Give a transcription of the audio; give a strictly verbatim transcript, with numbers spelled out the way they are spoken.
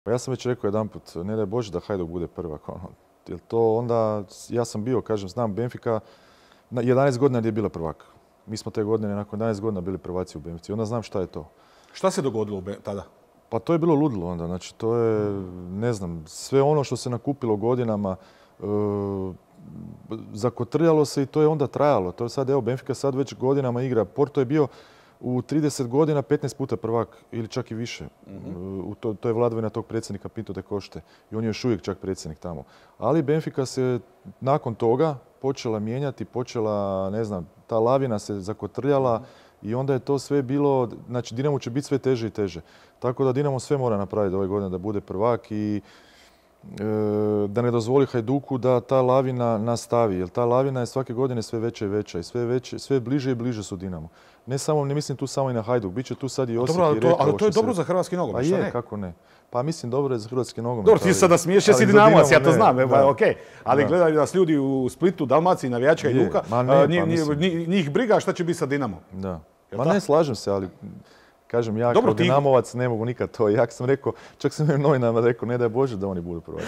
Pa ja sam već rekao jedanput, ne daj Bože da Hajduk bude prvak. Ono. Jer to onda, ja sam bio, kažem, znam Benfica, jedanaest godina je bila prvak. Mi smo te godine, nakon jedanaest godina bili prvaci u Benfici. Onda znam šta je to. Šta se dogodilo tada? Pa to je bilo ludilo onda. Znači, to je, ne znam, sve ono što se nakupilo godinama, e, zakotrljalo se i to je onda trajalo. To je sad, evo, Benfica sad već godinama igra. Porto je bio u trideset godina petnaest puta prvak ili čak i više. Mm-hmm. U to, to je vladavina tog predsjednika Pinto de Košte i on je još uvijek čak predsjednik tamo. Ali Benfica se nakon toga počela mijenjati, počela, ne znam, ta lavina se zakotrljala mm-hmm. i onda je to sve bilo, znači Dinamo će biti sve teže i teže. Tako da Dinamo sve mora napraviti ove godine da bude prvak i e, da ne dozvoli Hajduku da ta lavina nastavi. Jer ta lavina je svake godine sve veća i veća i sve, veće, sve bliže i bliže su Dinamo. Ne samo, ne mislim tu samo i na Hajduk, bit će tu sad i Osijek dobro, i Rijeka. Ali to je dobro se... za hrvatski nogomet, pa šta je, ne? kako ne? Pa mislim dobro je za hrvatski nogomet. Dobro, ti sada smiješ, jesi Dinamovac, ja to znam, evo, ok. Ali da. Gledaju nas ljudi u Splitu, Dalmaciji, navijači Hajduka, njih briga šta će biti sa Dinamom. Da. Ma ne, slažem se, ali kažem, ja dobro, kao ti... Dinamovac ne mogu nikad to. Ja sam rekao, čak sam im novinama rekao, ne daj Bože da oni budu prvaci.